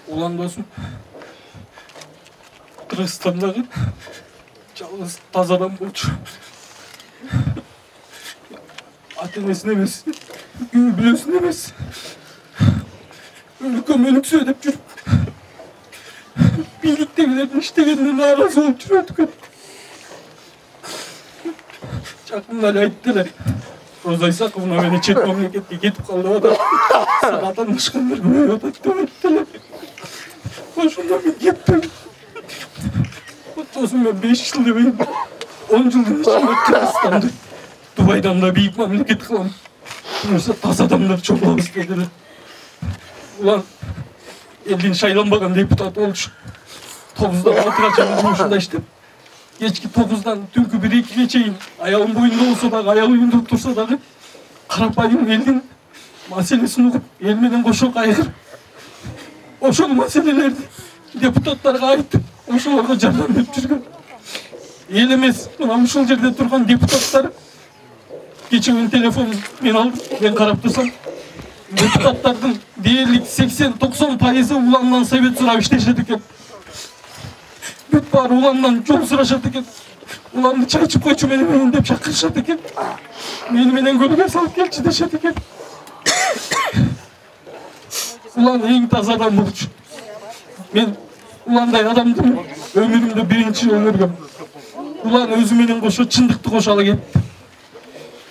Улан досум Кыргызстандагы жалгыз таза адам болчу. Ата-энесин эмес, үй бүлөсүн эмес. Өлкөм өлүксө деп жүрүп, бийликтегилердин иштегенине нааразы болуп жүрөт экен. Жакында эле айтты эле. Роза Исаковна мени чет мамлекетке кетип калды деп атат. Саатанышкандар көбөйүп атат деп айтты эле. Ошондо мен кеттим. Досум мен 5 жыл дебейм, 10 жылдын ичинде Кыргызстанды Дубайдан да бийик мамлекет кылам. Буюрса таза адамдар чогулабыз деди эле. Улан элдин шайланбаган депутаты болчу. 9-дан 6-га чейин жумушунда иштеп, кечки 9-дан түнкү 1-2-ге чейин аялым боюнда болсо дагы, аялы үйүндө турса дагы карапайым элдин маселесин угуп, эл менен кошо кайгырып, ошол маселелерди депутаттарга айтып, ошолорго жардам берип жүргөн. Эл эмес, мына ушул жерде турган депутаттар кечээ мен телефон мен алдым, мен карап турсам, депутаттардын дээрлик 80-90% Уландан совет сурап иштешет экен. Бүт баары Уландан жол сурашат экен. Уланды чай ичип койчу менен деп чакырышат экен. Мени менен көлгө салып келчи дешет экен. Улан эң таза адам болчу. Мен Уландай адамды өмүрүмдө биринчи көргөм. Улан өзү менен кошо чындыкты кошо ала кетти.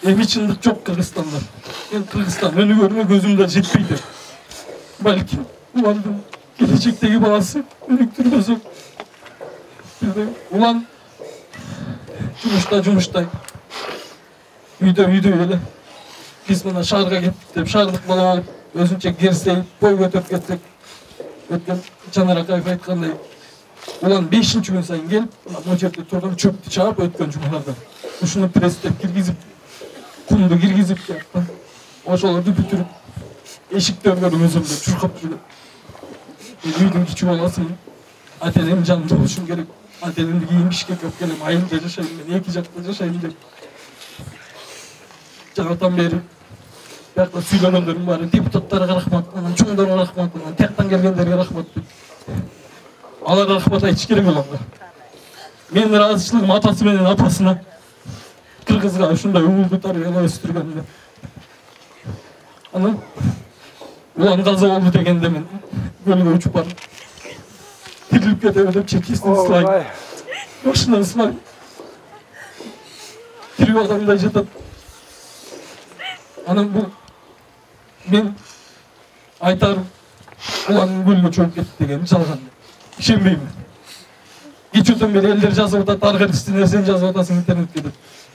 Эми чындык жок Кыргызстанда. Мен Кыргызстан өнүгөрүнө көзүм да жетпейт. Балки Уландын келечектеги баласы өнүктүрбөсөк. Улан жумуштай. Үйдө эле. Биз мына шаарга кеттик деп, шаардык бала болуп, өзүнчө керсей, бой көтөрүп кетсек. Өткөн Жанар Акаев айткандай, Улан 5-күн сайын келип, могу жерде турган чөптү чаап өткөн жумаларда. Ушуну пресстеп киргизип, кумду киргизип, ошолорду бүтүрүп, эшиктерден өзүмдө чуркап жүргөн. Үйдүн кичүү баласымын. Ата-энем жанымда болушум керек. Ата-энемди кийинбишке көп келем, айылда жашайм, мен 2 жакта жашайм деп. Жанатан бери биякта сүйлөгөндөрдүн баары депутаттарга рахмат, анан чоңдорго рахмат, анан тияктан келгендерге рахмат деп. Аларга рахмат айтыш керек Уланга. Менин ыраазычылыгым атасы менен апасына кыргызга ушундай угулду тарбиялап өстүргөнүнө. Анан Улан каза болду дегенде мен көлгө учуп барып тирилип кетеби деп чекесин сылайм. Башынан сылайм. Тирүү адамдай жатат. Анан бул мен айтарым Улан көлгө чөгүп кетти деген жалган. Ишенбеймин. Кечөөдөн бери элдер жазып атат, ар кайсы нерсени жазып атасың интернетке деп.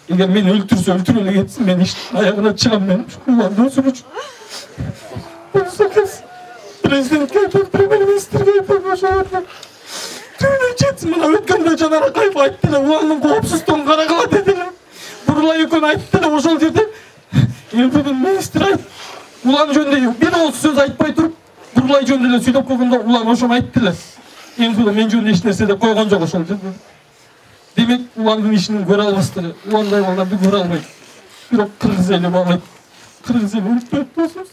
Эгер мени өлтүрсө өлтүрүп эле кетсин, мен иштин аягына чыгам, мен Уланды өсүрүү үчүн. Президентке айтып, премьер-министрге айтып, ошолорго түнү жетсин. Мына өткөндө Жанар Акаев айтты эле, Уландын коопсуздугун карагыла деди эле. Бурлай экөө айтты эле ошол жерде. Министр айтып, Улан жөнүндө бир ооз сөз айтпай туруп, Бурлай жөнүндө эле сүйлөп койгондо Улан ошону айтты эле. Мен жөнүндө эч нерсе деп койгон жок ошол жерде. Демек, Уландын ишинин көрө албастыгы, Уландай балдарды көрө албайт. Бирок кыргыз эли баалайт. Кыргыз эли өлүп кетти.